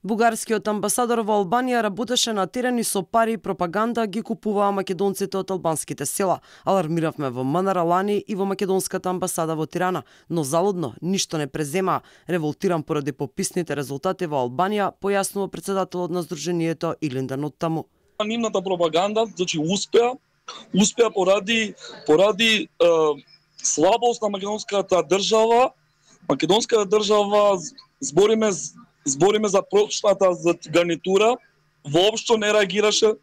Бугарскиот амбасадор во Албанија работеше на терен и со пари и пропаганда ги купуваа македонците од албанските села. Алармиравме во МНР лани и во македонската амбасада во Тирана, но залудно ништо не преземаа. Револтиран поради пописните резултати во Албанија, појаснува претседателот на Сдруженијето Илиндан Оттаму. Нивната пропаганда, значи успеа поради слабост на македонската држава. Македонската држава збориме за прошлата гарнитура, воопшто не реагираше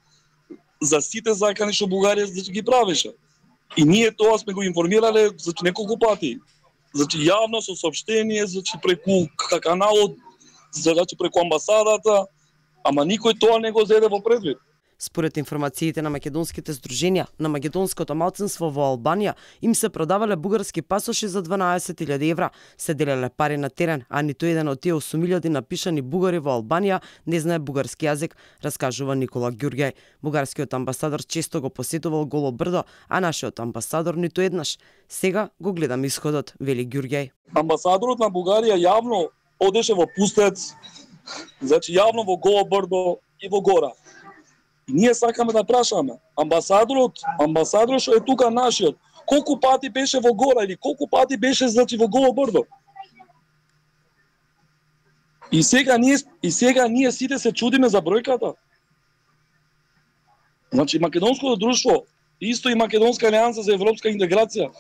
за сите закани што Бугарија ги правеше. И ние тоа сме го информирале неколку пати. Јавно со соопштение, преку каналот, преку амбасадата, ама никој тоа не го зеде во предвид. Според информациите на македонските здруженија, на македонското малцинство во Албанија им се продавале бугарски пасоши за 12.000 евра, се делеле пари на терен, а ниту еден од тие 8.000 напишани бугари во Албанија не знае бугарски јазик, раскажува Никола Ѓурѓај. Бугарскиот амбасадор често го посетувал Голо брдо, а нашиот амбасадор ниту еднаш. Сега го гледам исходот, вели Ѓурѓај. Амбасадорот на Бугарија јавно одеше во Пустец, јавно во Голо брдо и во Гора. И ние сакаме да прашаме, амбасадорот што е тука нашиот, колку пати беше во Гора или колку пати беше во Голо брдо? И сега ние сите се чудиме за бројката. Македонското друштво, исто и Македонска алијанса за европска интеграција,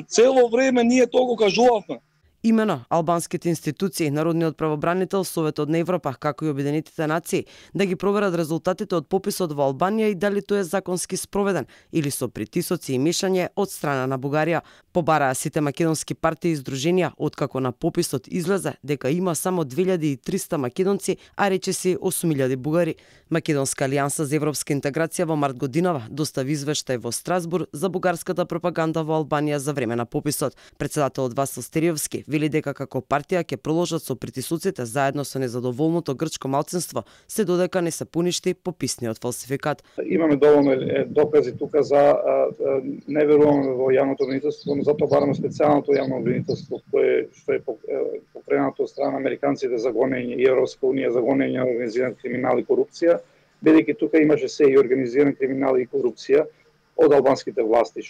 цело време ние тоа го кажувавме. Имено, албанските институции, Народниот правобранител, Советот на Европа, како и Обединетите нации, да ги проверат резултатите од пописот во Албанија и дали тој е законски спроведен или со притисоци и мешање од страна на Бугарија. Побараа сите македонски партии и здруженија, откако на пописот излезе дека има само 2300 македонци, а речиси 8000 бугари. Македонска алијанса за европска интеграција во март годинава достави извештај во Страсбург за бугарската пропаганда во Албанија за време на пописот. Претседателот Васил Стериовски вели дека како партија ќе продолжат со притисоците заедно со незадоволното грчко малцинство, се додека не се поништи пописниот фалсификат. Имаме доволно докази тука за не веруваме во јавното обвинителство, но затоа бараме специјалното јавно обвинителство што е покренато од страна на американците за гонење и Европска унија за гонење на организиран криминал и корупција, бидејќи тука имаше се и организиран криминал и корупција од албанските власти,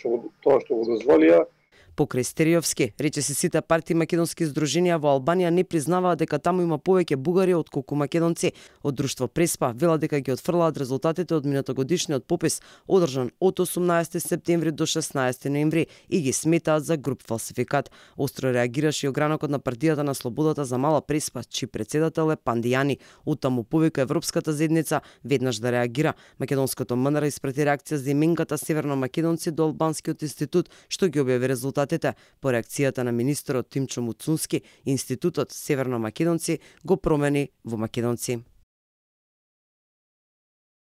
тоа што го дозволија. Покрај Стериовски, речиси сите партии македонски здруженија во Албанија не признаваат дека таму има повеќе бугари отколку македонци. Од друштво Преспа вела дека ги отфрлаат резултатите од минатогодишниот попис одржан од 18 септември до 16 ноември и ги сметаат за груб фалсификат. Остро реагираше и огранокот на партијата на Слободата за Мала Преспа, чиј претседател е Пандијани. Оттаму повика Европската заедница веднаш да реагира. Македонското МНР испрати реакција за именката северно македонци до Албанскиот институт, што ги објави резултатите. По реакцијата на министерот Тимчо Муцунски, институтот Северно Македонци го промени во македонци.